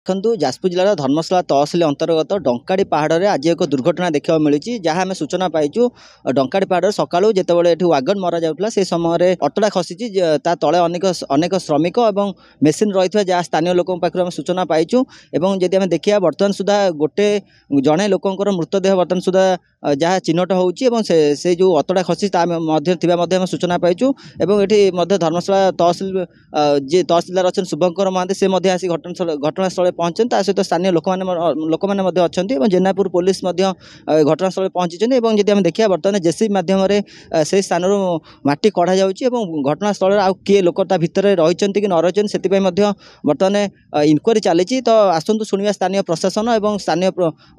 ଦେଖନ୍ତୁ, ଯାଜପୁର ଜିଲ୍ଲାର ଧର୍ମଶାଳା ତହସିଲ ଅନ୍ତର୍ଗତ ଡଙ୍କାଡ଼ି ପାହାଡ଼ରେ ଆଜି ଏକ ଦୁର୍ଘଟଣା ଦେଖିବାକୁ ମିଳିଛି। ଯାହା ଆମେ ସୂଚନା ପାଇଛୁ, ଡଙ୍କାଡ଼ି ପାହାଡ଼ରେ ସକାଳୁ ଯେତେବେଳେ ଏଠି ୱାଗନ ମରାଯାଉଥିଲା, ସେ ସମୟରେ ଅତଡ଼ା ଖସିଛି। ତା ତଳେ ଅନେକ ଅନେକ ଶ୍ରମିକ ଏବଂ ମେସିନ୍ ରହିଥିବା ଯାହା ସ୍ଥାନୀୟ ଲୋକଙ୍କ ପାଖରୁ ଆମେ ସୂଚନା ପାଇଛୁ। ଏବଂ ଯଦି ଆମେ ଦେଖିବା, ବର୍ତ୍ତମାନ ସୁଦ୍ଧା ଗୋଟେ ଜଣେ ଲୋକଙ୍କର ମୃତଦେହ ବର୍ତ୍ତମାନ ସୁଦ୍ଧା ଯାହା ଚିହ୍ନଟ ହେଉଛି ଏବଂ ସେ ଯେଉଁ ଅତଡ଼ା ଖସିଛି ତା ମଧ୍ୟ ଥିବା ମଧ୍ୟ ଆମେ ସୂଚନା ପାଇଛୁ। ଏବଂ ଏଠି ମଧ୍ୟ ଧର୍ମଶାଳା ତହସିଲ ଯିଏ ତହସିଲଦାର ଅଛନ୍ତି ଶୁଭଙ୍କର ମହାନ୍ତି, ସେ ମଧ୍ୟ ଆସି ଘଟଣାସ୍ଥଳରେ ପହଞ୍ଚିଛନ୍ତି। ତା ସହିତ ସ୍ଥାନୀୟ ଲୋକମାନେ ମଧ୍ୟ ଅଛନ୍ତି ଏବଂ ଜେନାପୁର ପୋଲିସ ମଧ୍ୟ ଘଟଣାସ୍ଥଳରେ ପହଞ୍ଚିଛନ୍ତି। ଏବଂ ଯଦି ଆମେ ଦେଖିବା, ବର୍ତ୍ତମାନ ଜେସିବି ମାଧ୍ୟମରେ ସେଇ ସ୍ଥାନରୁ ମାଟି କଢ଼ାଯାଉଛି ଏବଂ ଘଟଣାସ୍ଥଳରେ ଆଉ କିଏ ଲୋକ ତା ଭିତରେ ରହିଛନ୍ତି କି ନ ରହିଛନ୍ତି, ସେଥିପାଇଁ ମଧ୍ୟ ବର୍ତ୍ତମାନ ଇନକ୍ୱାରି ଚାଲିଛି। ତ ଆସନ୍ତୁ ଶୁଣିବା ସ୍ଥାନୀୟ ପ୍ରଶାସନ ଏବଂ ସ୍ଥାନୀୟ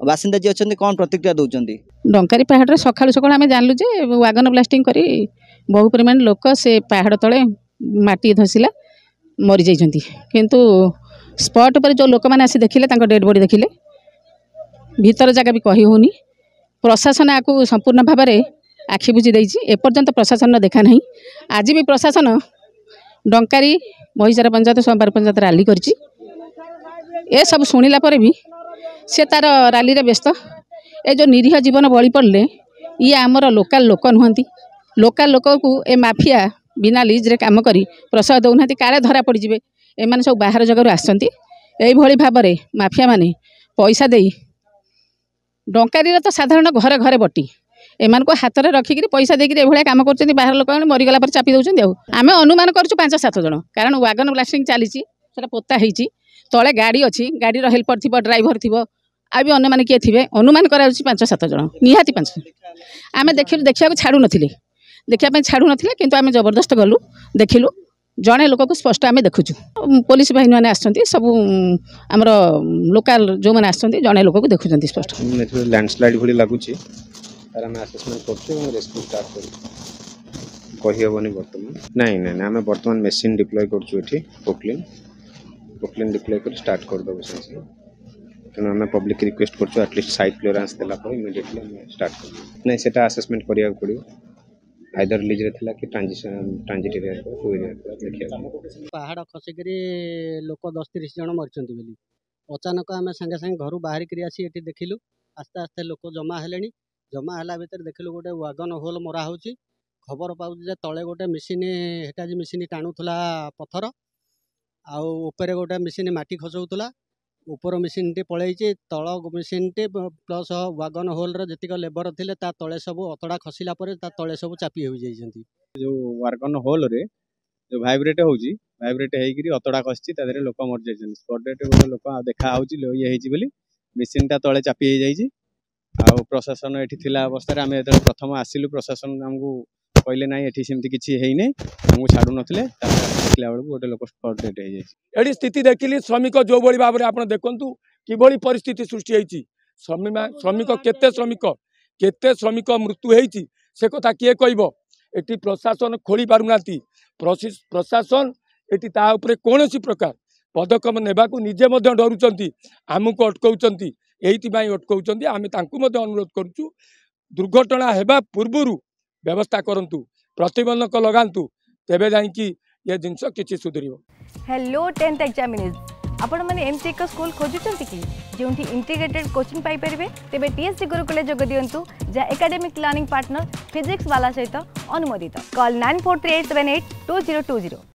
ବାସିନ୍ଦା ଯିଏ ଅଛନ୍ତି କ'ଣ ପ୍ରତିକ୍ରିୟା ଦେଉଛନ୍ତି। ଡଙ୍କାରୀ ପାହାଡ଼ରେ ସକାଳୁ ସକାଳୁ ଆମେ ଜାଣିଲୁ ଯେ ୱାଗନ ବ୍ଲାଷ୍ଟିଂ କରି ବହୁ ପରିମାଣ ଲୋକ ସେ ପାହାଡ଼ ତଳେ ମାଟି ଧସିଲା, ମରିଯାଇଛନ୍ତି। କିନ୍ତୁ ସ୍ପଟ୍ ଉପରେ ଯେଉଁ ଲୋକମାନେ ଆସି ଦେଖିଲେ, ତାଙ୍କ ଡେଡ଼୍ ବଡ଼ି ଦେଖିଲେ, ଭିତର ଜାଗା ବି କହି ହେଉନି। ପ୍ରଶାସନ ଆକୁ ସମ୍ପୂର୍ଣ୍ଣ ଭାବରେ ଆଖି ବୁଜି ଦେଇଛି। ଏପର୍ଯ୍ୟନ୍ତ ପ୍ରଶାସନର ଦେଖା ନାହିଁ। ଆଜି ବି ପ୍ରଶାସନ ଡଙ୍କାରୀ, ମହିଷାର ପଞ୍ଚାୟତ, ସୋମବାର ପଞ୍ଚାୟତ ରାଲି କରିଛି। ଏସବୁ ଶୁଣିଲା ପରେ ବି ସେ ତାର ରାଲିରେ ବ୍ୟସ୍ତ। ଏ ଯେଉଁ ନିରୀହ ଜୀବନ ବଳି ପଡ଼ିଲେ, ଇଏ ଆମର ଲୋକାଲ ଲୋକ ନୁହନ୍ତି। ଲୋକାଲ ଲୋକକୁ ଏ ମାଫିଆ ବିନା ଲିଜ୍ରେ କାମ କରି ପ୍ରଶୟ ଦେଉନାହାନ୍ତି, କାଳେ ଧରା ପଡ଼ିଯିବେ। ଏମାନେ ସବୁ ବାହାର ଜାଗାରୁ ଆସିଛନ୍ତି। ଏଇଭଳି ଭାବରେ ମାଫିଆମାନେ ପଇସା ଦେଇ, ଡଙ୍କାରୀରେ ତ ସାଧାରଣ ଘରେ ଘରେ ବଟି, ଏମାନଙ୍କୁ ହାତରେ ରଖିକିରି ପଇସା ଦେଇକିରି ଏଭଳିଆ କାମ କରୁଛନ୍ତି। ବାହାର ଲୋକମାନେ ମରିଗଲା ପରେ ଚାପି ଦେଉଛନ୍ତି। ଆଉ ଆମେ ଅନୁମାନ କରୁଛୁ 5-7 ଜଣ, କାରଣ ୱାଗନ ବ୍ଲାଷ୍ଟିଂ ଚାଲିଛି, ସେଟା ପୋତା ହେଇଛି, ତଳେ ଗାଡ଼ି ଅଛି, ଗାଡ଼ିର ହେଲ୍ପର ଥିବ, ଡ୍ରାଇଭର ଥିବ, ଆଉ ବି ଅନ୍ୟମାନେ କିଏ ଥିବେ। ଅନୁମାନ କରାଯାଉଛି 5-7 ଜଣ, ନିହାତି 5। ଆମେ ଦେଖିଲୁ, ଦେଖିବାକୁ ଛାଡ଼ୁନଥିଲେ, ଦେଖିବା ପାଇଁ ଛାଡ଼ୁନଥିଲେ, କିନ୍ତୁ ଆମେ ଜବରଦସ୍ତ ଗଲୁ, ଦେଖିଲୁ, ଜଣେ ଲୋକକୁ ସ୍ପଷ୍ଟ ଆମେ ଦେଖୁଛୁ। ପୋଲିସ ବାହିନୀମାନେ ଆସିଛନ୍ତି, ସବୁ ଆମର ଲୋକାଲ ଯେଉଁମାନେ ଆସିଛନ୍ତି, ଜଣେ ଲୋକକୁ ଦେଖୁଛନ୍ତି ସ୍ପଷ୍ଟ। ଏଥିରେ ଲ୍ୟାଣ୍ଡସ୍ଲାଇଡ୍ ଭଳି ଲାଗୁଛି, ତାର ଆମେ ଆସେସମେଣ୍ଟ କରୁଛୁ ଏବଂ ରେସ୍କ୍ୟୁ ଷ୍ଟାର୍ଟ କରୁଛୁ। କହିହେବନି ବର୍ତ୍ତମାନ। ନାଇଁ ନାଇଁ ନାଇଁ, ଆମେ ବର୍ତ୍ତମାନ ମେସିନ୍ ଡିପ୍ଲୟ କରୁଛୁ ଏଠି, ପୋକଲିନ୍ ଡିପ୍ଲୟ କରି ଷ୍ଟାର୍ଟ କରିଦେବୁ ସାଙ୍ଗେ ସାଙ୍ଗେ। ତେଣୁ ଆମେ ପବ୍ଲିକ୍ ରିକ୍ୱେଷ୍ଟ କରୁଛୁ, ଆଟଲିଷ୍ଟ ସାଇଟ୍ କ୍ଲିୟରାନ୍ସ ଦେଲା ପରେ ଇମିଡ଼ିଏଟଲି ଆମେ ଷ୍ଟାର୍ଟ କରିବୁ। ନାଇଁ, ସେଟା ଆସେସମେଣ୍ଟ କରିବାକୁ ପଡ଼ିବ। ଆଇଦର ଲିଜ୍ରେ ଥିଲା କି ଟ୍ରାଞ୍ଜିଟ୍ ଏରିଆ ଥିଲା, କେଉଁ ଏରିଆ ଥିଲା ଦେଖିବାକୁ। ପାହାଡ଼ ଖସିକିରି ଲୋକ 10 30 ଜଣ ମରିଛନ୍ତି ବୋଲି ଅଚାନକ ଆମେ ସାଙ୍ଗେ ସାଙ୍ଗେ ଘରୁ ବାହାରିକିରି ଆସି ଏଠି ଦେଖିଲୁ। ଆସ୍ତେ ଆସ୍ତେ ଲୋକ ଜମା ହେଲେଣି। ଜମା ହେଲା ଭିତରେ ଦେଖିଲୁ ଗୋଟେ ୱାଗନ ହୋଲ୍ ମରା ହେଉଛି। ଖବର ପାଉଛୁ ଯେ ତଳେ ଗୋଟେ ମେସିନ୍, ହେଟାଜି ମେସିନ୍ ଟାଣୁଥିଲା ପଥର, ଆଉ ଉପରେ ଗୋଟେ ମେସିନ୍ ମାଟି ଖସଉଥିଲା। ଉପର ମେସିନ୍ଟି ପଳେଇଛି, ତଳ ମେସିନ୍ଟି ପ୍ଲସ୍ ୱାଗନ ହୋଲ୍ର ଯେତିକ ଲେବର ଥିଲେ ତା ତଳେ ସବୁ ଅତଡ଼ା ଖସିଲା ପରେ ତା ତଳେ ସବୁ ଚାପି ହୋଇଯାଇଛନ୍ତି। ଯେଉଁ ୱାଗନ ହୋଲ୍ରେ ଯେଉଁ ଭାଇବ୍ରେଟ୍ ହେଉଛି, ଭାଇବ୍ରେଟ୍ ହେଇକିରି ଅତଡ଼ା ଖସିଛି, ତା ଦେହରେ ଲୋକ ମରିଯାଇଛନ୍ତି। ସ୍ପଟ୍ ଡେଟ୍ ଗୋଟେ ଲୋକ ଦେଖା ହେଉଛି ଇଏ ହେଇଛି ବୋଲି, ମେସିନ୍ଟା ତଳେ ଚାପି ହେଇଯାଇଛି। ଆଉ ପ୍ରଶାସନ ଏଠି ଥିଲା ଅବସ୍ଥାରେ ଆମେ ଯେତେବେଳେ ପ୍ରଥମ ଆସିଲୁ, ପ୍ରଶାସନ ଆମକୁ କହିଲେ ନାଇଁ ଏଠି ସେମିତି କିଛି ହେଇନି, ଆମକୁ ଛାଡ଼ୁନଥିଲେ। ତାପରେ ଦେଖିଲା ବେଳକୁ ଗୋଟେ ଲୋକ ସ୍ପଟ୍ ଡେଟ୍ ହେଇଯାଇଛି। ଏଠି ସ୍ଥିତି ଦେଖିଲି, ଶ୍ରମିକ ଯେଉଁଭଳି ଭାବରେ ଆପଣ ଦେଖନ୍ତୁ କିଭଳି ପରିସ୍ଥିତି ସୃଷ୍ଟି ହେଇଛି। ଶ୍ରମିକ କେତେ, ଶ୍ରମିକ କେତେ ଶ୍ରମିକ ମୃତ୍ୟୁ ହେଇଛି ସେ କଥା କିଏ କହିବ? ଏଠି ପ୍ରଶାସନ ଖୋଳି ପାରୁନାହାନ୍ତି। ପ୍ରଶାସନ ଏଠି ତା ଉପରେ କୌଣସି ପ୍ରକାର ପଦକ୍ଷେପ ନେବାକୁ ନିଜେ ମଧ୍ୟ ଡରୁଛନ୍ତି, ଆମକୁ ଅଟକାଉଛନ୍ତି। ଏଇଥିପାଇଁ ଅଟକାଉଛନ୍ତି। ଆମେ ତାଙ୍କୁ ମଧ୍ୟ ଅନୁରୋଧ କରୁଛୁ, ଦୁର୍ଘଟଣା ହେବା ପୂର୍ବରୁ ବ୍ୟବସ୍ଥା କରନ୍ତୁ, ପ୍ରତିବନ୍ଧକ ଲଗାନ୍ତୁ, ତେବେ ଯାଇକି ଏ ଜିନିଷ କିଛି ସୁଧୁରିବ। ହ୍ୟାଲୋ ଟେନ୍ଥ ଏକ୍ଜାମିନେସ୍, ଆପଣମାନେ ଏମିତି ଏକ ସ୍କୁଲ ଖୋଜୁଛନ୍ତି କି ଯେଉଁଠି ଇଣ୍ଟିଗ୍ରେଟେଡ୍ କୋଚିଂ ପାଇପାରିବେ? ତେବେ ଟିଏସ୍ସି ଗୁରୁକୁଲେ ଯୋଗ ଦିଅନ୍ତୁ, ଯାହା ଏକାଡେମିକ୍ ଲର୍ଣ୍ଣିଂ ପାର୍ଟନର ଫିଜିକ୍ସ ବାଲା ସହିତ ଅନୁମୋଦିତ। କଲ୍ 9438782020।